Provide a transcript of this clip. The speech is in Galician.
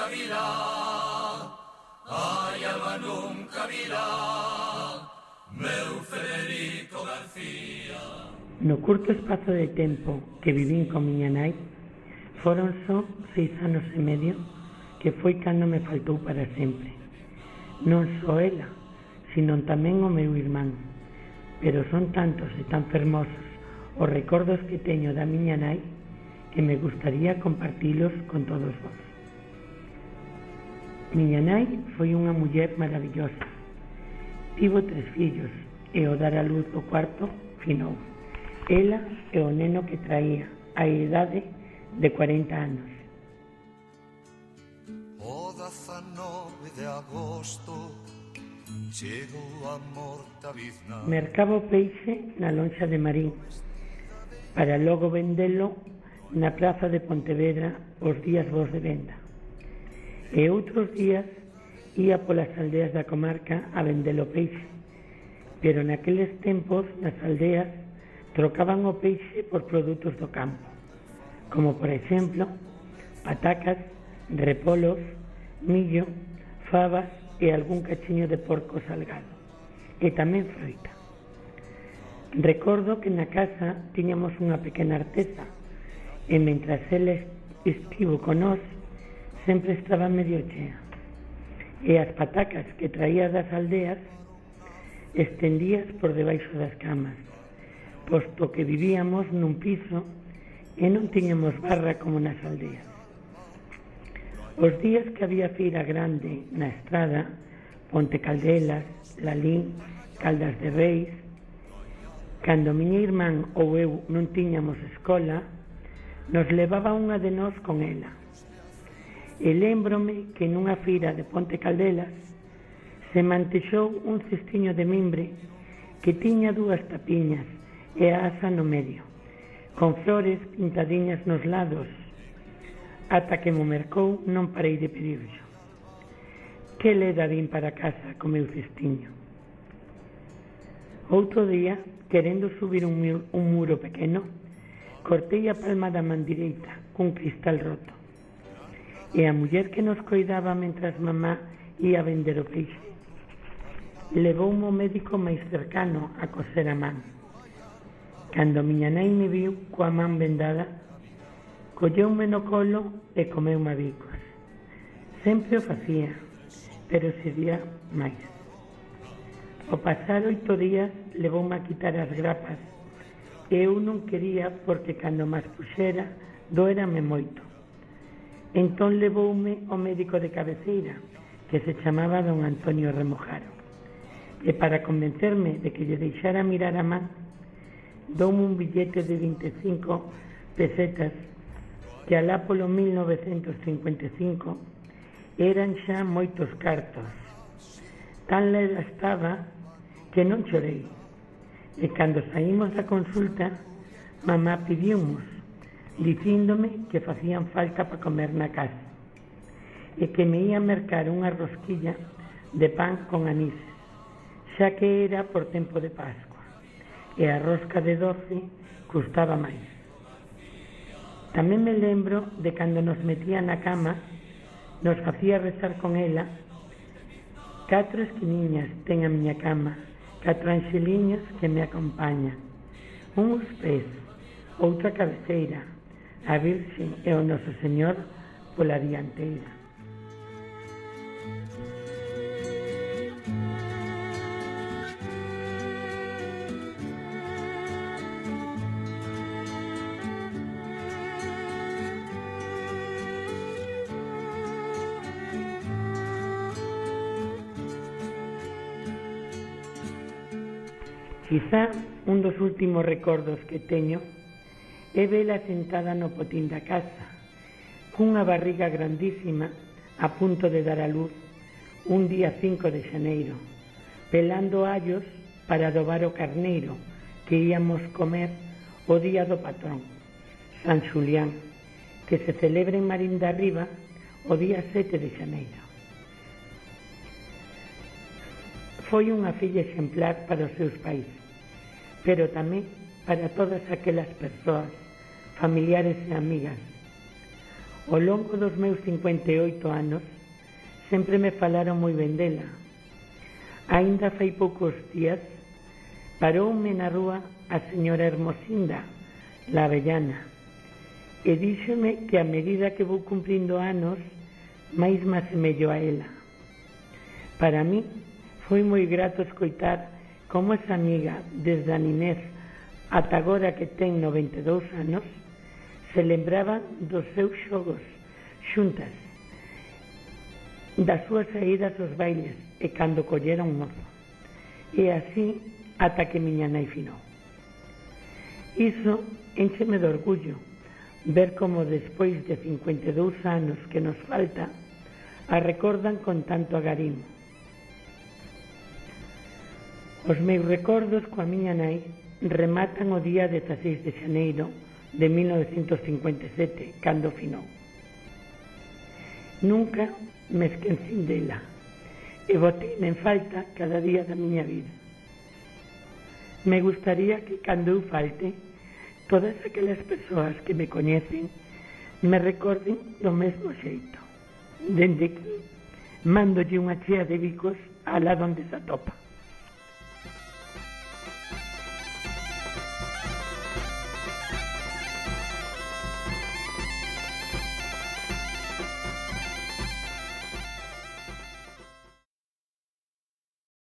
virá, ai, alma nunca virá, meu Federico García. No curto espazo de tempo que vivín con miña nai, foron só 6 anos e medio, que foi cando me faltou para sempre. Non só ela, sino tamén o meu irmán. Pero son tantos e tan fermosos os recordos que teño da miña nai que me gustaría compartilos con todos vos. Miña nai foi unha muller maravillosa. Tivo 3 fillos e ao dar a luz do cuarto finou. Ela e o neno que traía a idade de 40 anos. O 19 de agosto chegou a morta bizna. Mercaba o peixe na lonxa de Marín para logo vendelo na praza de Pontevedra os días bos de venda. E outros días ia polas aldeas da comarca a vender o peixe, pero naqueles tempos nas aldeas trocaban o peixe por produtos do campo, como por exemplo patacas, repolos, millo, fabas e algún cachiño de porco salgado, e tamén froita. Recordo que na casa tiñamos unha pequena artesa, e mentras ela estivo con nós, sempre estaba medio chea. E as patacas que traía das aldeas estendías por debaixo das camas, posto que vivíamos nun piso e non tiñamos barra como nas aldeas. Os días que había feira grande na estrada, Ponte Caldelas, Lalín, Caldas de Reis, cando miña irmán ou eu non tiñamos escola, nos levaba unha de nós con ela. E lémbrome que nunha feira de Ponte Caldelas se mantexou un cestiño de mimbre que tiña 2 tapiñas e a asa no medio, con flores pintadiñas nos lados. Ata que mo mercou non parei de pedirlo. Que leda vin para casa co meu cestiño. Outro día, querendo subir un muro pequeno, cortei a palma da man direita cun cristal roto. E a muller que nos coidaba mentras mamá ia vender o peixe levoume ao médico máis cercano a coser a man. Cando miña nai me viu coa man vendada, colleume no colo e comeume a bicos. Sempre o facía, pero sería máis. Ao pasar 8 días levoume a quitar as grapas e eu non quería porque cando mas puxera doérame moito. Entón levoume ao médico de cabeceira, que se chamaba don Antonio Remojaro, e para convencerme de que lle deixara mirar a man, doume un billete de 25 pesetas que alá polo 1955 eran xa moitos cartos. Tan leda estaba que non chorei, e cando saímos da consulta mamá pidiumos, dicíndome que facían falta para comer na casa e que me ia mercar unha rosquilla de pan con anís, xa que era por tempo de Pascua e a rosca de 12 custaba máis. Tamén me lembro de cando nos metía na cama, nos facía rezar con ela. 4 esquiniñas ten a miña cama, 4 anxeliños que me acompañan, uns pés, outra cabeceira, a Virxe e o Noso Señor pola dianteira. Quizá un dos últimos recordos que teño é vela sentada no potín da casa, cunha barriga grandísima a punto de dar a luz un día 5 de xaneiro, pelando allos para adobar o carneiro que íamos comer o día do patrón, San Xulián, que se celebra en Marín de Arriba o día 7 de xaneiro. Foi unha filla exemplar para os seus pais, pero tamén para todas aquelas persoas, familiares e amigas. Ao longo dos meus 58 anos sempre me falaron moi ben dela. Aínda fai poucos días paroume na rúa a señora Hermosinda, la avellana, e díxome que a medida que vou cumprindo anos máis me asemello a ela. Para mí foi moi grato escoitar como esa amiga desde a ninez ata agora que ten 92 anos se lembraba dos seus xogos xuntas, das súas saídas aos bailes e cando collera un mozo, e así ata que miña nai finou. Iso éncheme de orgullo ver como despois de 52 anos que nos falta a recordan con tanto agarimo. Os meus recordos coa miña nai rematan o día 16 de xaneiro de 1957, cando finou. Nunca me esquecín dela e boteime en falta cada día da miña vida. Me gustaría que cando eu falte, todas aquelas persoas que me coñecen me recorden do mesmo xeito. Dende que mándolle unha chea de bicos alá donde se atopa.